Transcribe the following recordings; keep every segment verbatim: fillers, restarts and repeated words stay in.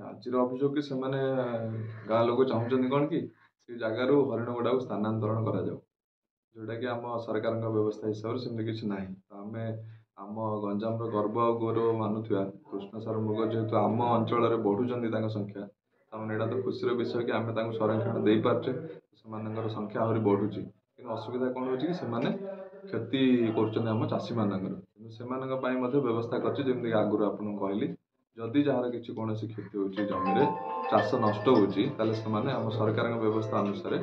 ଆଜିର ଅଭିଯୋଗ କି ସେମାନେ ଗାଁ ଲୋକ ଚାହୁଁଛନ୍ତି କ'ଣ କି ସେ ଜାଗାରୁ ହରିଣ ଗୁଡ଼ାକୁ ସ୍ଥାନାନ୍ତରଣ କରାଯାଉ, ଯେଉଁଟାକି ଆମ ସରକାରଙ୍କ ବ୍ୟବସ୍ଥା ହିସାବରେ ସେମିତି କିଛି ନାହିଁ। ତ ଆମେ ଆମ ଗଞ୍ଜାମର ଗର୍ବ ଆଉ ଗୌରବ ମାନୁଥିବା କୃଷ୍ଣସାର ମୃଗ ଯେହେତୁ ଆମ ଅଞ୍ଚଳରେ ବଢ଼ୁଛନ୍ତି ତାଙ୍କ ସଂଖ୍ୟା, ତାମାନେ ଏଇଟା ତ ଖୁସିର ବିଷୟ କି ଆମେ ତାଙ୍କୁ ସଂରକ୍ଷଣ ଦେଇପାରୁଛେ, ସେମାନଙ୍କର ସଂଖ୍ୟା ଆହୁରି ବଢ଼ୁଛି। କିନ୍ତୁ ଅସୁବିଧା କ'ଣ ହେଉଛି କି ସେମାନେ କ୍ଷତି କରୁଛନ୍ତି ଆମ ଚାଷୀମାନଙ୍କର। କିନ୍ତୁ ସେମାନଙ୍କ ପାଇଁ ମଧ୍ୟ ବ୍ୟବସ୍ଥା କରିଛି, ଯେମିତିକି ଆଗରୁ ଆପଣଙ୍କୁ କହିଲି, ଯଦି ଯାହାର କିଛି କୌଣସି କ୍ଷତି ହେଉଛି, ଜମିରେ ଚାଷ ନଷ୍ଟ ହେଉଛି, ତାହେଲେ ସେମାନେ ଆମ ସରକାରଙ୍କ ବ୍ୟବସ୍ଥା ଅନୁସାରେ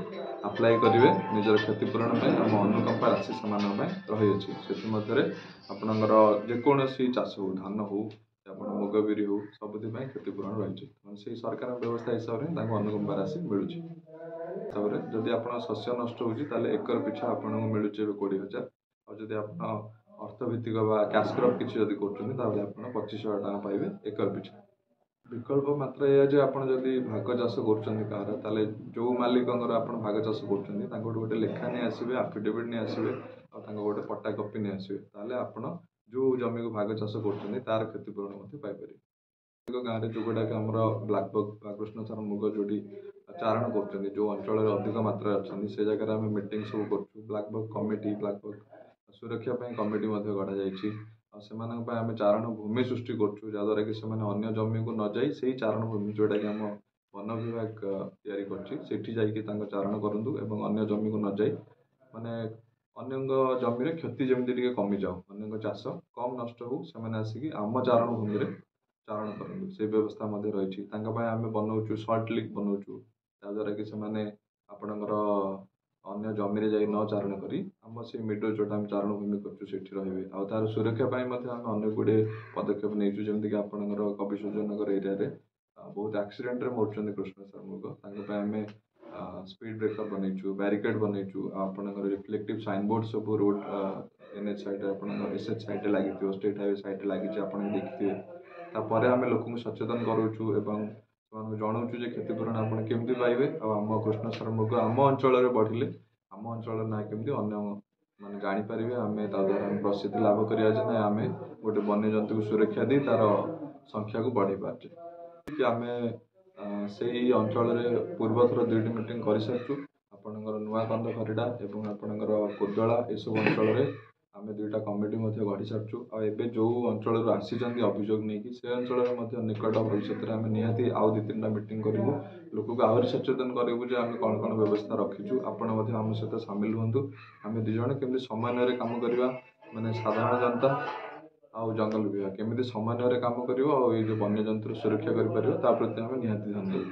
ଆପ୍ଲାଏ କରିବେ ନିଜର କ୍ଷତିପୂରଣ ପାଇଁ। ଆମ ଅନୁକମ୍ପା ରାଶି ସେମାନଙ୍କ ପାଇଁ ରହିଅଛି। ସେଥିମଧ୍ୟରେ ଆପଣଙ୍କର ଯେକୌଣସି ଚାଷ ହଉ, ଧାନ ହଉ, ଆପଣ ମୁଗ ବିରି ହଉ, ସବୁଥି ପାଇଁ କ୍ଷତିପୂରଣ ରହିଛି। ତେଣୁ ସେଇ ସରକାରଙ୍କ ବ୍ୟବସ୍ଥା ହିସାବରେ ହିଁ ତାଙ୍କୁ ଅନୁକମ୍ପା ରାଶି ମିଳୁଛି। ତାପରେ ଯଦି ଆପଣ ଶସ୍ୟ ନଷ୍ଟ ହେଉଛି, ତାହେଲେ ଏକର ପିଛା ଆପଣଙ୍କୁ ମିଳୁଛି ଏବେ କୋଡ଼ିଏ ହଜାର। ଆଉ ଯଦି ଆପଣ ଅର୍ଥଭିତ୍ତିକ ବା କ୍ୟାସ୍ କ୍ରପ୍ କିଛି ଯଦି କରୁଛନ୍ତି, ତାହେଲେ ଆପଣ ପଚିଶ ହଜାର ଟଙ୍କା ପାଇବେ ଏକର ପିଛା। ବିକଳ୍ପ ମାତ୍ର ଏଇଆ ଯେ ଆପଣ ଯଦି ଭାଗ ଚାଷ କରୁଛନ୍ତି କାହାର, ତାହେଲେ ଯେଉଁ ମାଲିକଙ୍କର ଆପଣ ଭାଗ ଚାଷ କରୁଛନ୍ତି, ତାଙ୍କଠୁ ଗୋଟେ ଲେଖା ନେଇ ଆସିବେ, ଆଫିଡେଭିଟ୍ ନେଇ ଆସିବେ ଆଉ ତାଙ୍କ ଗୋଟେ ପଟ୍ଟା କପି ନେଇ ଆସିବେ। ତାହେଲେ ଆପଣ ଯେଉଁ ଜମିକୁ ଭାଗ ଚାଷ କରୁଛନ୍ତି, ତାର କ୍ଷତିପୂରଣ ମଧ୍ୟ ପାଇପାରିବେ। ଗାଁରେ ଯେଉଁଗୁଡ଼ାକ ଆମର ବ୍ଲାକ୍ ବକ୍ ବା କୃଷ୍ଣସାର ମୃଗ ଯେଉଁଠି ଚାରଣ କରୁଛନ୍ତି, ଯେଉଁ ଅଞ୍ଚଳରେ ଅଧିକ ମାତ୍ରାରେ ଅଛନ୍ତି, ସେ ଜାଗାରେ ଆମେ ମିଟିଂ ସବୁ କରୁଛୁ। Black buck committee, black buck ସୁରକ୍ଷା ପାଇଁ କମିଟି ମଧ୍ୟ ଗଢ଼ାଯାଇଛି। ଆଉ ସେମାନଙ୍କ ପାଇଁ ଆମେ ଚାରଣ ଭୂମି ସୃଷ୍ଟି କରୁଛୁ, ଯାହାଦ୍ୱାରା କି ସେମାନେ ଅନ୍ୟ ଜମିକୁ ନ ଯାଇ ସେଇ ଚାରଣ ଭୂମି, ଯେଉଁଟାକି ଆମ ବନ ବିଭାଗ ତିଆରି କରିଛି, ସେଠି ଯାଇକି ତାଙ୍କ ଚାରଣ କରନ୍ତୁ ଏବଂ ଅନ୍ୟ ଜମିକୁ ନ ଯାଇ ମାନେ ଅନ୍ୟଙ୍କ ଜମିରେ କ୍ଷତି ଯେମିତି ଟିକେ କମିଯାଉ, ଅନ୍ୟଙ୍କ ଚାଷ କମ୍ ନଷ୍ଟ ହଉ, ସେମାନେ ଆସିକି ଆମ ଚାରଣ ଭୂମିରେ ଚାରଣ କରନ୍ତୁ, ସେଇ ବ୍ୟବସ୍ଥା ମଧ୍ୟ ରହିଛି। ତାଙ୍କ ପାଇଁ ଆମେ ବନଉଛୁ, ସଲ୍ଟ ଲିକ୍ ବନଉଛୁ, ଯାହାଦ୍ୱାରା କି ସେମାନେ ଆପଣଙ୍କର ଅନ୍ୟ ଜମିରେ ଯାଇ ନ ଚାରଣ କରି ଆମ ସେଇ ମିଡ଼ୋ ଯେଉଁଟା ଆମେ ଚାରଣ ଭୂମି କରୁଛୁ, ସେଠି ରହିବେ। ଆଉ ତା'ର ସୁରକ୍ଷା ପାଇଁ ମଧ୍ୟ ଆମେ ଅନେକ ଗୁଡ଼ିଏ ପଦକ୍ଷେପ ନେଇଛୁ। ଯେମିତିକି ଆପଣଙ୍କର କବିସୂର୍ଯ୍ୟନଗର ଏରିଆରେ ବହୁତ ଆକ୍ସିଡେଣ୍ଟରେ ମରୁଛନ୍ତି କୃଷ୍ଣସାର ମୃଗ। ତାଙ୍କ ପାଇଁ ଆମେ ସ୍ପିଡ଼ ବ୍ରେକର୍ ବନେଇଛୁ, ବ୍ୟାରିକେଡ଼ ବନେଇଛୁ ଆଉ ଆପଣଙ୍କର ରିଫ୍ଲେକ୍ଟିଭ୍ ସାଇନବୋର୍ଡ଼ ସବୁ ରୋଡ଼ ଏନ୍ ଏଚ୍ ସାଇଡ଼୍ରେ, ଆପଣଙ୍କର ଏସ୍ ଏଚ୍ ସାଇଡ଼୍ରେ ଲାଗିଥିବ, ଷ୍ଟେଟ୍ ହାଇୱେ ସାଇଡ଼୍ରେ ଲାଗିଛି, ଆପଣ ଦେଖିଥିବେ। ତାପରେ ଆମେ ଲୋକଙ୍କୁ ସଚେତନ କରାଉଛୁ ଏବଂ ସେମାନଙ୍କୁ ଜଣାଉଛୁ ଯେ କ୍ଷତିପୂରଣ ଆପଣ କେମିତି ପାଇବେ ଆଉ ଆମ କୃଷ୍ଣସାର ମୃଗ ଆମ ଅଞ୍ଚଳରେ ବଢ଼ିଲେ ଆମ ଅଞ୍ଚଳର ନାଁ କେମିତି ଅନ୍ୟ ମାନେ ଜାଣିପାରିବେ। ଆମେ ତା ଦ୍ୱାରା ଆମେ ପ୍ରସିଦ୍ଧି ଲାଭ କରିବା ଯେ ନାଇଁ, ଆମେ ଗୋଟେ ବନ୍ୟଜନ୍ତୁକୁ ସୁରକ୍ଷା ଦେଇ ତା'ର ସଂଖ୍ୟାକୁ ବଢ଼େଇ ପାରୁଛେ କି। ଆମେ ସେଇ ଅଞ୍ଚଳରେ ପୂର୍ବଥର ଦୁଇଟି ମିଟିଂ କରିସାରିଛୁ। ଆପଣଙ୍କର ନୂଆକନ୍ଦ ଖରିଡ଼ା ଏବଂ ଆପଣଙ୍କର କୋଦଳା, ଏସବୁ ଅଞ୍ଚଳରେ ଆମେ ଦୁଇଟା କମିଟି ମଧ୍ୟ ଗଢ଼ି ସାରିଛୁ। ଆଉ ଏବେ ଯେଉଁ ଅଞ୍ଚଳରୁ ଆସିଛନ୍ତି ଅଭିଯୋଗ ନେଇକି, ସେ ଅଞ୍ଚଳରେ ମଧ୍ୟ ନିକଟ ଭବିଷ୍ୟତରେ ଆମେ ନିହାତି ଆଉ ଦୁଇ ତିନିଟା ମିଟିଂ କରିବୁ। ଲୋକକୁ ଆହୁରି ସଚେତନ କରିବୁ ଯେ ଆମେ କ'ଣ କ'ଣ ବ୍ୟବସ୍ଥା ରଖିଛୁ, ଆପଣ ମଧ୍ୟ ଆମ ସହିତ ସାମିଲ ହୁଅନ୍ତୁ। ଆମେ ଦୁଇ ଜଣ କେମିତି ସମନ୍ୱୟରେ କାମ କରିବା, ମାନେ ସାଧାରଣ ଜନତା ଆଉ ଜଙ୍ଗଲ ବିଭାଗ କେମିତି ସମନ୍ୱୟରେ କାମ କରିବ ଆଉ ଏଇ ଯେଉଁ ବନ୍ୟଜନ୍ତୁର ସୁରକ୍ଷା କରିପାରିବ, ତା ପ୍ରତି ଆମେ ନିହାତି ଧ୍ୟାନ ଦେବୁ।